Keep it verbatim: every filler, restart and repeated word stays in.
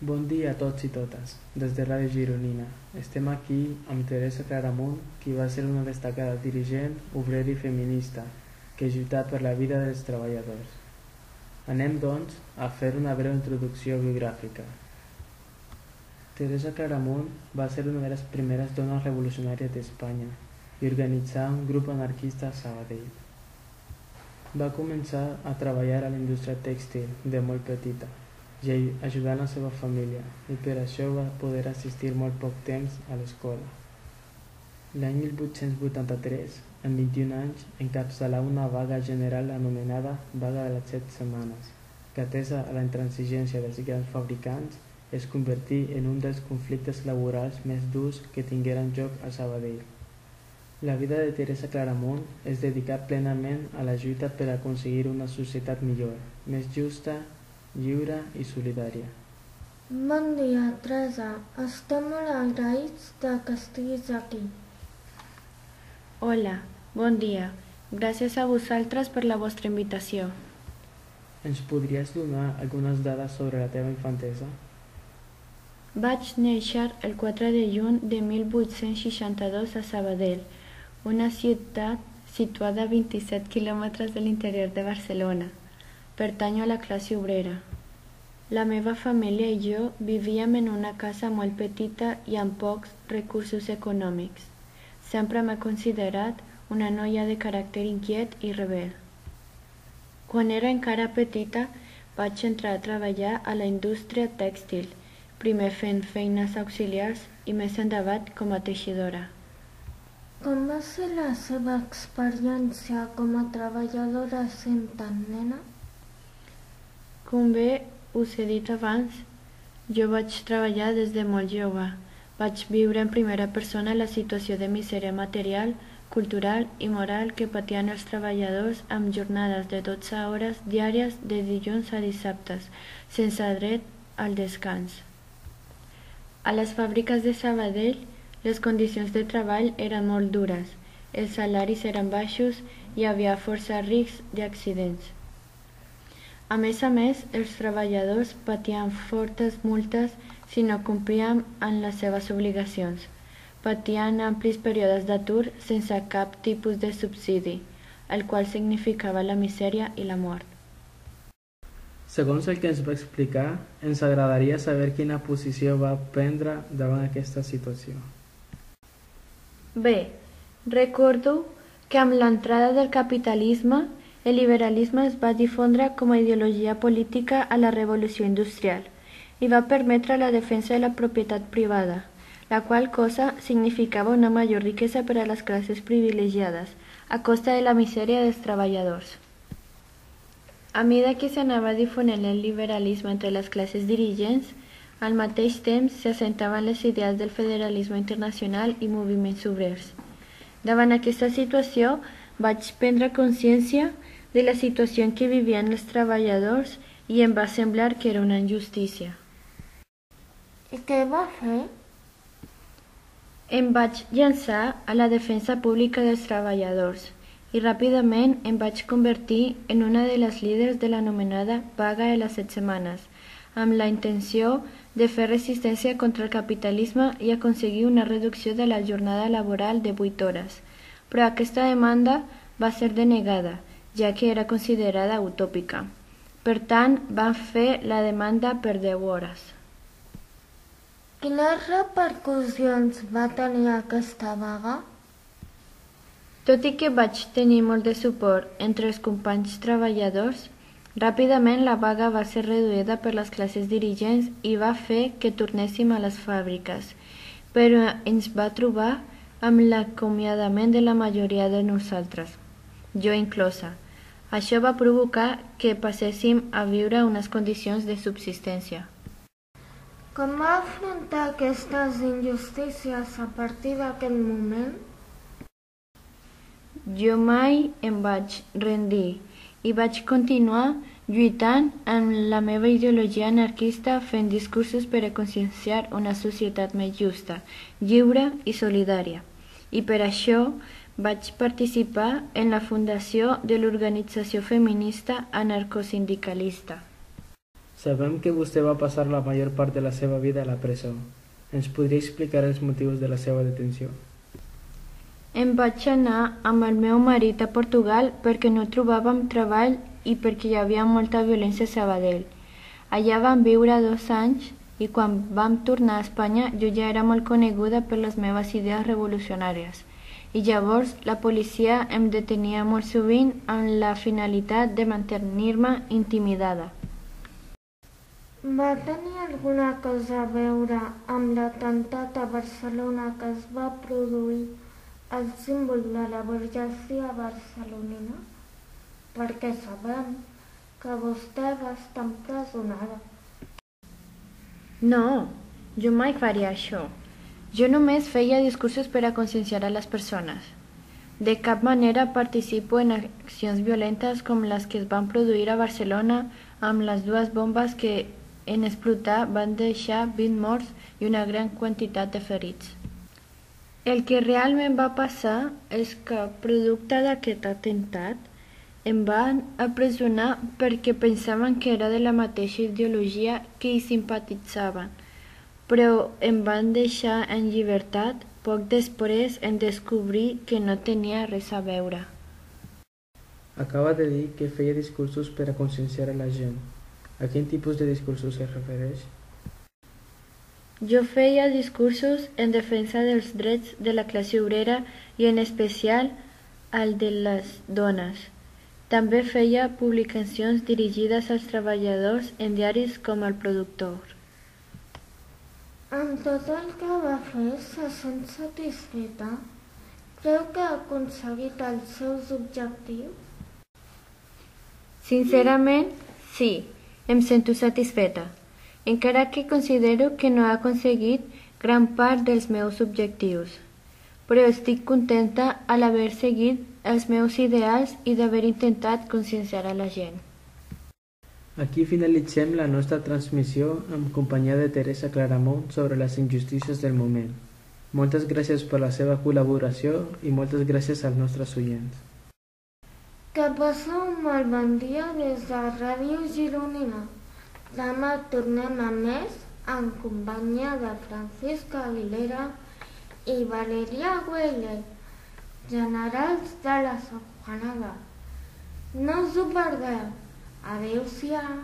Bon dia a tots i totes, des de Ràdio Gironina. Estem aquí amb Teresa Claramunt, qui va ser una destacada dirigent, obrera i feminista, que ha lluitat per la vida dels treballadors. Anem, doncs, a fer una breu introducció biogràfica. Teresa Claramunt va ser una de les primeres dones revolucionàries d'Espanya i organitzà un grup anarquista a Sabadell. Va començar a treballar a la indústria tèxtil de molt petita, i ajudant la seva família, i per això va poder assistir molt poc temps a l'escola. L'any mil vuit-cents vuitanta-tres, amb vint-i-un anys, encapçalà una vaga general anomenada Vaga de les Set Setmanes, que, atesa a la intransigència dels grans fabricants, es convertí en un dels conflictes laborals més durs que tingueren lloc a Sabadell. La vida de Teresa Claramunt es dedicà plenament a la lluita per aconseguir una societat millor, més justa, lliure i solidària. Bon dia, Teresa. Estem molt agraïts de que estiguis aquí. Hola, bon dia. Gràcies a vosaltres per la vostra invitació. Ens podries donar algunes dades sobre la teva infantesa? Vaig néixer el quatre de juny de mil vuit-cents seixanta-dos a Sabadell, una ciutat situada a vint-i-set quilòmetres de l'interior de Barcelona. Pertanyo a la classe obrera. La meva família i jo vivíem en una casa molt petita i amb pocs recursos econòmics. Sempre m'he considerat una noia de caràcter inquiet i rebel. Quan era encara petita, vaig entrar a treballar a la indústria tèxtil, primer fent feines auxiliars i més endavant com a teixidora. Com va ser la seva experiència com a treballadora sent tan nena? Com bé us he dit abans, jo vaig treballar des de molt jove. Vaig viure en primera persona la situació de misèria material, cultural i moral que patien els treballadors amb jornades de dotze hores diàries de dilluns a dissabtes, sense dret al descans. A les fàbriques de Sabadell, les condicions de treball eren molt dures, els salaris eren baixos i hi havia força riscs d'accidents. A més a més, els treballadors patien fortes multes si no complien amb les seves obligacions. Patien amplis períodes d'atur sense cap tipus de subsidi, el qual significava la misèria i la mort. Segons el que ens va explicar, ens agradaria saber quina posició va prendre davant aquesta situació. Bé, recordo que amb l'entrada del capitalisme, el liberalisme es va difondre com a ideologia política a la revolució industrial i va permetre la defensa de la propietat privada, la qual cosa significava una major riquesa per a les classes privilegiades, a costa de la misèria dels treballadors. A mesura que s'anava difonent el liberalisme entre les classes dirigents, al mateix temps s'assentaven les idees del federalisme internacional i moviments obrers. Davant aquesta situació, vaig prendre consciència de la situació en què vivien els treballadors i em va semblar que era una injustícia. I què va fer? Em vaig llançar a la defensa pública dels treballadors i ràpidament em vaig convertir en una de les líders de l'anomenada Vaga de les Set Setmanes, amb la intenció de fer resistència contra el capitalisme i aconseguir una reducció de la jornada laboral de vuit hores. Però aquesta demanda va ser denegada, ja que era considerada utòpica. Per tant, van fer la demanda per deu hores. Quines repercussions va tenir aquesta vaga? Tot i que vaig tenir molt de suport entre els companys treballadors, ràpidament la vaga va ser reduïda per les classes dirigents i va fer que tornéssim a les fàbriques, però ens va trobar amb l'acomiadament de la majoria de nosaltres, jo inclosa. Això va provocar que passéssim a viure unes condicions de subsistència. Com va afrontar aquestes injustícies a partir d'aquest moment? Jo mai em vaig rendir i vaig continuar lluitant amb la meva ideologia anarquista fent discursos per a conscienciar una societat més justa, lliure i solidària. I per això vaig participar en la fundació de l'organització feminista anarcosindicalista. Sabem que vostè va passar la major part de la seva vida a la presó. Ens podria explicar els motius de la seva detenció? Em vaig anar amb el meu marit a Portugal perquè no trobàvem treball i perquè hi havia molta violència a Sabadell. Allà vam viure dos anys i quan vam tornar a Espanya jo ja era molt coneguda per les meves idees revolucionàries i llavors la policia em detenia molt sovint amb la finalitat de mantenir-me intimidada. Va tenir alguna cosa a veure amb l'atemptat a Barcelona que es va produir al símbol de la burgesia barcelonina? Perquè sabem que vostè va estar empresonada. No, jo mai faria això. Jo només feia discursos per a conscienciar a les persones. De cap manera participo en accions violentes com les que es van produir a Barcelona amb les dues bombes que en explotar van deixar vint morts i una gran quantitat de ferits. El que realment va passar és que, producte d'aquest atemptat, em van apresonar perquè pensaven que era de la mateixa ideologia que hi simpatitzaven, però em van deixar en llibertat poc després en descobrir que no tenia res a veure. Acaba de dir que feia discursos per a conscienciar a la gent. A quin tipus de discursos es refereix? Jo feia discursos en defensa dels drets de la classe obrera i en especial el de les dones. També feia publicacions dirigides als treballadors en diaris com El Productor. Amb tot el que va fer, se sent satisfeta? Creu que ha aconseguit els seus objectius? Sincerament, sí. Em sento satisfeta, encara que considero que no he aconseguit gran part dels meus objectius, però estic contenta a l'haver seguit els meus ideals i d'haver intentat conscienciar a la gent. Aquí finalitzem la nostra transmissió en companyia de Teresa Claramunt sobre les injustícies del moment. Moltes gràcies per la seva col·laboració i moltes gràcies als nostres oients. Que passeu un molt bon dia des de Ràdio Gironina. Demà tornem a més en companyia de Francisca Aguilera i Valeria Güelle, generals de la Safanada. No us ho perdeu. Adéu-siau.